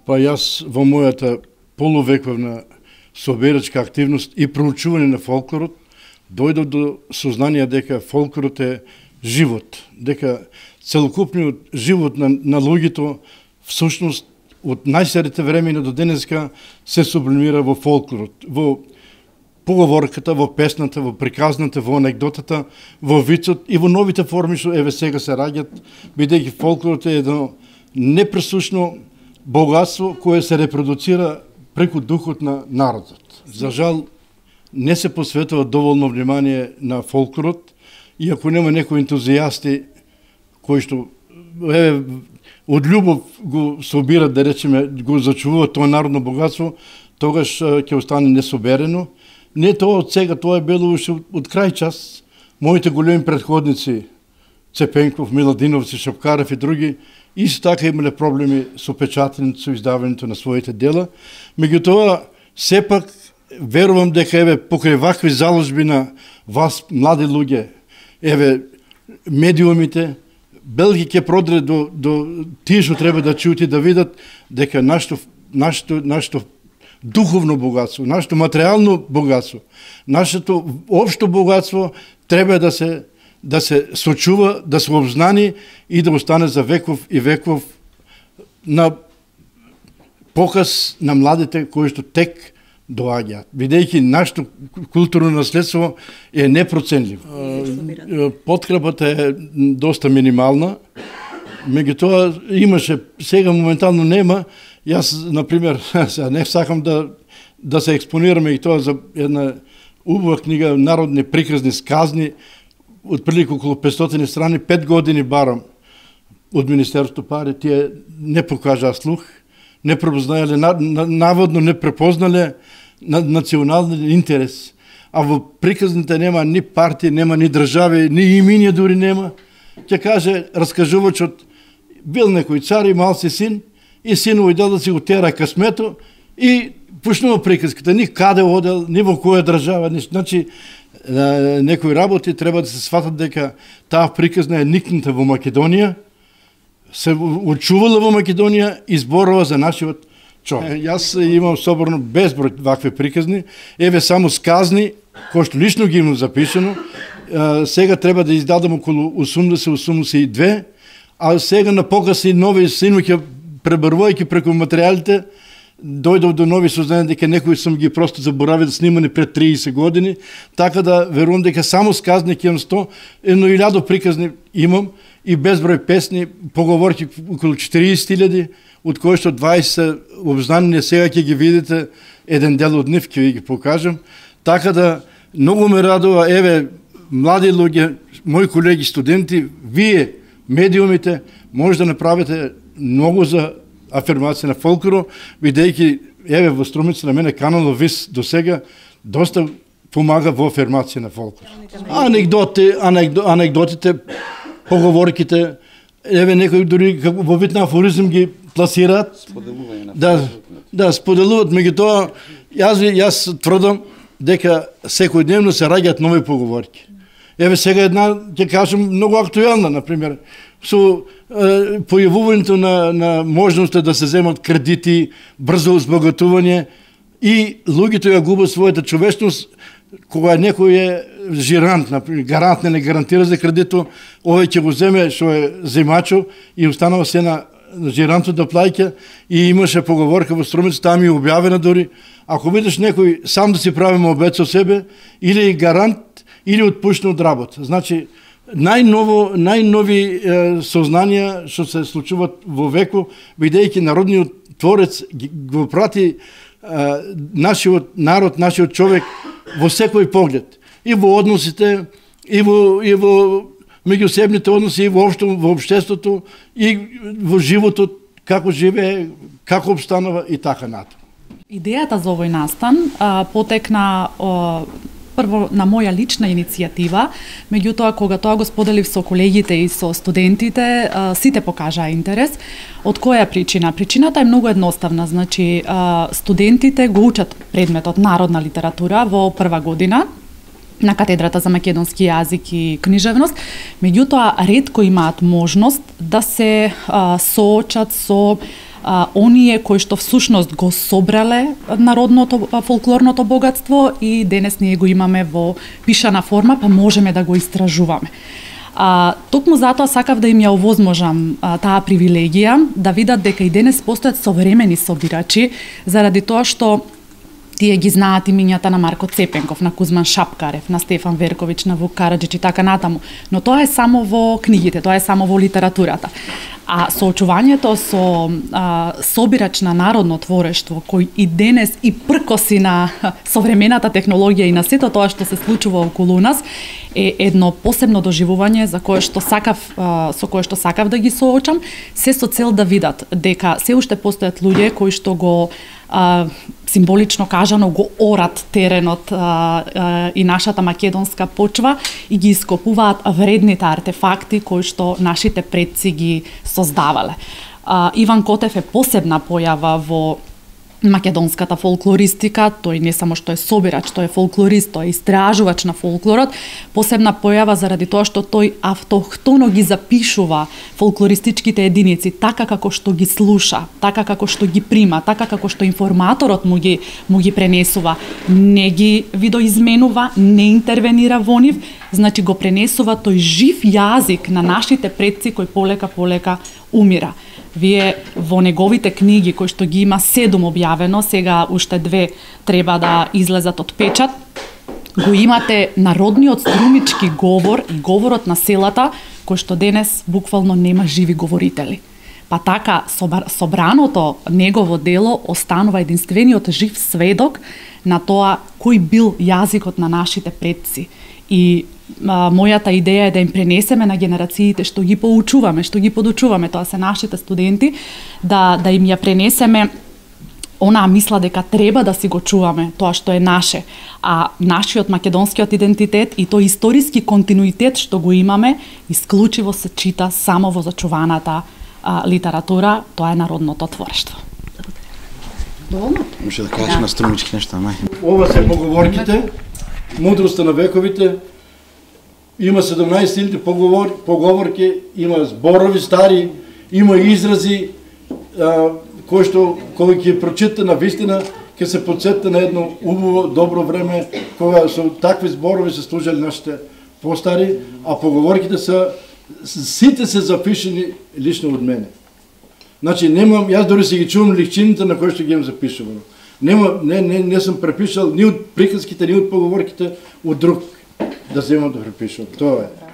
Па јас во мојата полувековна собирачка активност и проучување на фолклорот дојдов до сознание дека фолклорот е живот, дека целокупниот живот на луѓето всушност од најстарите времена до денеска се сублимира во фолклорот, во поговорката, во песната, во приказната, во анегдотата, во вицот и во новите форми што еве сега се раѓат, бидејќи фолклорот е едно непресушно богатство кое се репродуцира преку духот на народот. За жал, не се посветува доволно внимание на фолклорот, и ако нема некои ентузијасти кои што од љубов го собират, да речеме, го зачувуваат тоа народно богатство, тогаш ќе остане несоберено. Не тоа од сега, тоа е било уште од крај час. Моите големи предходници, Цепенков, Миладиновци, Шапкарев и други, исто така имале проблеми со печатењето, со издавањето на своите дела. Меѓутоа, сепак, верувам дека еве покрај вакви заложби на вас, млади луѓе, еве медиумите, Белги ќе продре до тие што треба да чујат и да видат дека нашето духовно богатство, нашето материјално богатство, нашето општо богатство треба да се сочува, да се обзнани и да остане за веков и веков на показ на младите кои што тек доаѓаат. Бидејќи нашето културно наследство е непроценливо. Подкрепата е доста минимална, меѓутоа имаше, сега моментално нема. Јас, например, не сакам да се експонираме и тоа за една убава книга Народни приказни сказни, отприлика околу 500 страни, 5 години барам од Министерството пари, тие не покажаа слух, не препознале, наводно не препознале национален интерес. А во приказните нема ни партии, нема ни држави, ни имиња дури нема. Ќе каже раскажувачот, бил некој цар, имал си син, и синот идел да си го тера късмето и почнува приказката. Ни каде одел, ни во која држава, значи некои работи треба да се сватат дека таа приказна е никната во Македонија, се очувала во Македонија и зборува за нашиот човек. Јас имам соборно безброј вакви приказни, еве само сказни, кои што лично ги имам запишано, сега треба да издадам околу 80-82, а сега на показ и нови синоќа, пребарувајќи преку материјалите, дојдов до нови сознание дека некои сум ги просто заборавил снимани пред 30 години, така да верувам дека само сказни ќе имам 100, едно 1000 приказни имам и безброј песни, поговорки околу 40.000, од кои што 20 обзнани, сега ќе ги видите, еден дел од нив ќе ви ги покажам. Така да многу ме радува, еве млади луѓе, мои колеги студенти, вие медиумите може да направите многу за афирмација на фолклорот, бидејќи еве во Струмица на мене каналот ВИС до сега доста помага во афирмација на фолклорот. Анегдотите, поговорките, еве некои дури во вид на афоризм ги пласираат. Да, споделуваат, меѓутоа јас тврдам дека секојдневно се раѓаат нови поговорки. Еве сега една ќе кажам многу актуелна, например, со појавувањето на можноста да се земат кредити, брзо збогатување и луѓето ја губат својата човечност, кога некој е жирант, например, гарант не гарантира за кредито, овој ќе го земе што е земачо и останува се на жирантот да плаќа. И имаше поговорка во Струмица, таа ми е објавена дури, ако видиш некој сам да си прави обет со себе, или гарант, или отпуштен од работа. Значи, најнови сознанија што се случуваат во веко, бидејќи народниот творец го прати нашиот народ, нашиот човек во секој поглед. И во односите, и во меѓусебните односи, и во општеството, и во животот, како живее, како обстанува и така натаму. Идејата за овој настан потекна прво на моја лична иницијатива, меѓутоа кога тоа го споделив со колегите и со студентите, сите покажаа интерес. Од која причина? Причината е многу едноставна, значи студентите го учат предметот народна литература во прва година на катедрата за македонски јазик и книжевност, меѓутоа ретко имаат можност да се соочат со оние кои што всушност го собрале народното фолклорното богатство и денес ние го имаме во пишана форма, па можеме да го истражуваме. Токму затоа сакав да им ја овозможам таа привилегија, да видат дека и денес постојат современи собирачи, заради тоа што тие ги знаат имињата на Марко Цепенков, на Кузман Шапкарев, на Стефан Верковиќ, на Вук Караџич и така натаму. Но тоа е само во книгите, тоа е само во литературата. А соочувањето со собирач на народно творештво, кој и денес и пркоси на современата технологија и на сето тоа што се случува околу нас, е едно посебно доживување за кое што со кое што сакав да ги соочам, се со цел да видат дека се уште постојат луѓе кои што го символично кажано го орат теренот и нашата македонска почва и ги ископуваат вредните артефакти кои што нашите предци ги создавале. Иван Котев е посебна појава во македонската фолклористика, тој не само што е собирач, тој е фолклорист, тој е истражувач на фолклорот, посебна појава заради тоа што тој автохтоно ги запишува фолклористичките единици така како што ги слуша, така како што ги прима, така како што информаторот му ги пренесува, не ги видоизменува, не интервенира во нив, значи го пренесува тој жив јазик на нашите предци кој полека умира. Вие во неговите книги, кои што ги има 7 објавено, сега уште 2 треба да излезат од печат, го имате народниот струмички говор и говорот на селата, кој што денес буквално нема живи говорители. Па така, собраното негово дело останува единствениот жив сведок на тоа кој бил јазикот на нашите предци. И мојата идеја е да им пренесеме на генерациите што ги поучуваме, што ги подучуваме, тоа се нашите студенти, да им ја пренесеме онаа мисла дека треба да си го чуваме тоа што е наше, а нашиот македонскиот идентитет и тој историски континуитет што го имаме, исклучиво се чита само во зачуваната литература, тоа е народното творештво. Може да кажеш на струмички нешта, мај. Ова се поговорките, мудроста на вековите, има 17 поговорки, има зборови стари, има изрази кои што кога ќе прочита на вистина ќе се потсетите на едно убаво добро време кога со такви зборови се служели нашите постари, а поговорките се сите се запишани лично од мене. Значи немам, јас дори се ги чувам лихчините на кои што ги имам запишувано. Не сум препишал ни од приказките, ни од поговорките од друг да земам да препишувам. Тоа е.